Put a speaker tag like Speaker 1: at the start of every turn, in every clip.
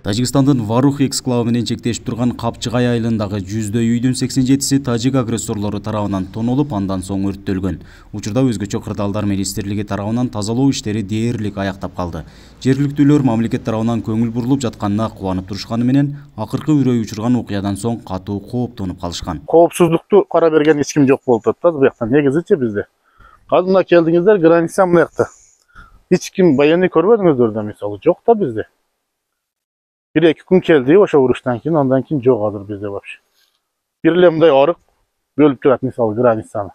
Speaker 1: Тажикстандын Варух эксклавы менен чектешип турган Капчыгай айылындагы 100 үйдүн 87-си тажик агрессорлору тарабынан тонолуп, андан соң өрттөлгөн. Учурда өзгөчө кырдаалдар министрлиги тарабынан тазалоо иштери дээрлик аяктап калды. Жергиликтүүлөр мамлекет тарабынан көңүл бурулуп жатканына кубанып турушканы менен, акыркы үрөй учурган окуядан соң катуу кооптонуп калышкан.
Speaker 2: Коопсуздукту кара берген эч ким жок болуп атат да бияктан. Негизичи бизде. Азыр мына келдиңиздер, граница мына жакта. Эч ким военный көрбөдүңүздөр да, мисалы, жок да бизде. Bir-iki gün keldi oşa vuruştan keyin, ondan keyin jok hazır bizde вообще. Bir эле мындай арык бөлүп турат, мисалы, границаны.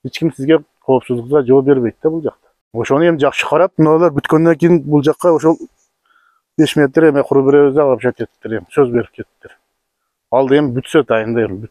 Speaker 2: Эч ким сизге коопсуздукка жооп бербейт да бул жакта. Ошону эми жакшы карап, мыналар бүткөндөн кийин бул жакка ошол 5 метр эме куруп беребиз деп алып кетиптир, эми сөз берип кетиптир. Алды эми бүтсө дайында эми.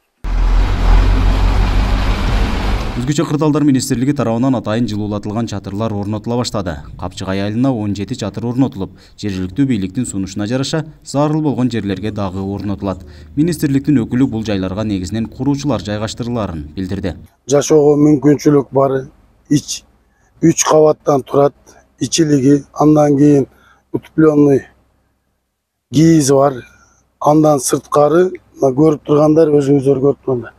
Speaker 1: Өзгөчө кырдаалдар министрлиги тарабынан атайын жылуулатылган чатырлар орнотула баштады. Капчыгай айылына 17 чатыр орнотулуп, жергиликтүү бийликтин сунушуна жараша зарыл болгон жерлерге дагы орнотулат. Министрликтин өкүлү бул жайларга негизинен куруучулар жайгаштырыларын билдирди.
Speaker 3: Жашоого мүмкүнчүлүк бар, 3 кабаттан турат, ичилиги, андан кийин утепленный кийизи бар, андан сырткары көрүп тургандар, өзүңүздөр көрүп тургандар,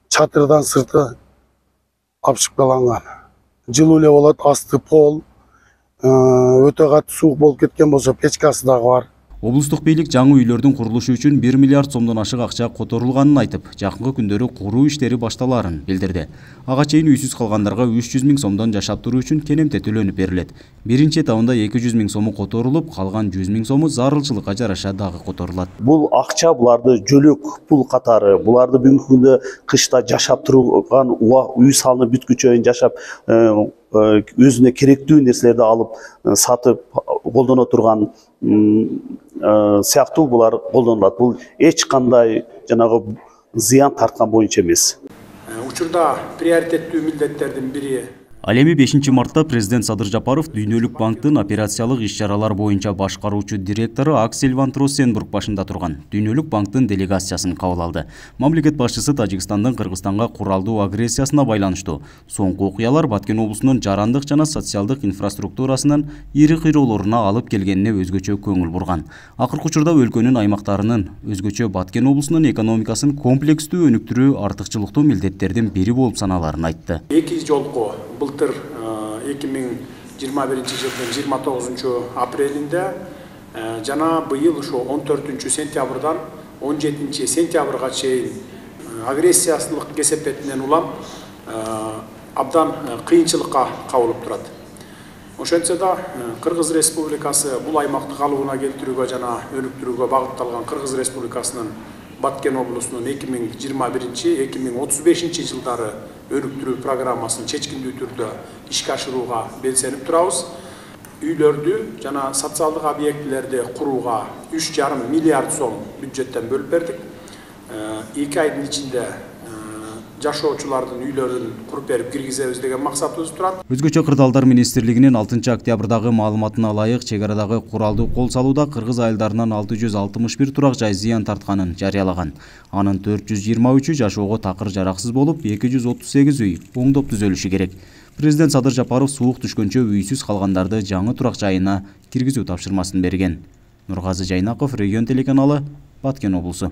Speaker 3: чатырдан сырты апшыкталган. Жылуу эле болот, асты пол, өтө катуу суук болуп кеткен болсо печкасы дагы бар.
Speaker 1: Облустук бийлик жаңы үйлөрдүн курулушу үчүн 1 миллиард сомдон ашык акча которулганын айтып, жакынкы күндөрү куруу иштери башталарын билдирди. Ага чейин үйсүз калгандарга 300 000 сомдон жашап туруу үчүн кенемте төлөнүп берилет. Биринчи этабында 200 000 сому которулуп, калган 100 000 сому зарылчылыкка жараша дагы которулат.
Speaker 4: Бул акча буларды жөлөк пул катары, буларды бүгүнкү күндө кышта жашап турган үй салынып бүткүчө жашап өзүнө керектүү нерселерди алып сатып колдоно турган сыяктуу булар колдонулат. Бул эч кандай жанагы зыян тарткан боюнча эмес.
Speaker 5: Учурда приоритеттүү милдеттердин бири.
Speaker 1: Ал эми 5 мартта президент Садыр Жапаров Дүйнөлүк банктын операциялык иш-чаралар боюнча башкаруучу директору Аксель Ван Троссенбург башында турган Дүйнөлүк банктын делегациясын кабыл алды. Мамлекет башчысы Тажикстандын Кыргызстанга куралдуу агрессиясына байланыштуу соңку окуялар Баткен облусунун жарандык жана социалдык инфраструктурасынын ири кыйроолоруна алып келгенине өзгөчө көңүл бурган. Акыркы учурда өлкөнүн аймактарынын, өзгөчө Баткен облусунун экономикасын комплекстүү өнүктүрүү артыкчылыктуу милдеттердин бири болуп саналарын айтты.
Speaker 5: Эки жолку былтыр 2021 жылдын 29 апрелинде жана быйыл ошо 14 сентябрдан 17 сентябрга чейин агрессиялык кесепетинен улам абдан кыйынчылыкка кабылып турат. Ошентсе да Кыргыз Республикасы бул аймакты калыбына келтирүүгө жана өнүктүрүүгө багытталган Кыргыз Республикасынын Баткен облусунун 2021-2035 жылдары өнүктүрүү программасын чечкиндүү түрдө ишке ашырууга белсенип турабыз. Үйлөрдү жана социалдык объектилерди курууга 3,5 миллиард сом бюджеттен бөлүп бердик. 2 айдын ичинде жашоочулардын үйлөрүн куруп берип киргизебиз деген максатыбыз турат.
Speaker 1: Өзгөчө кырдаалдар министрлигинин 6 октябрдагы маалыматына ылайык чек арадагы куралдуу кол салууда кыргыз айылдарынан 661 турак жай зыян тартканын жарыялаган. Анын 423-ү жашоого такыр жараксыз болуп, 238 үй оңдоп түзөлүшү керек. Президент Садыр Жапаров суук түшкөнчө үйсүз калгандарды жаңы турак жайына киргизүү тапшырмасын берген. Нургазы Жайнаков, Регион телеканалы, Баткен облусу.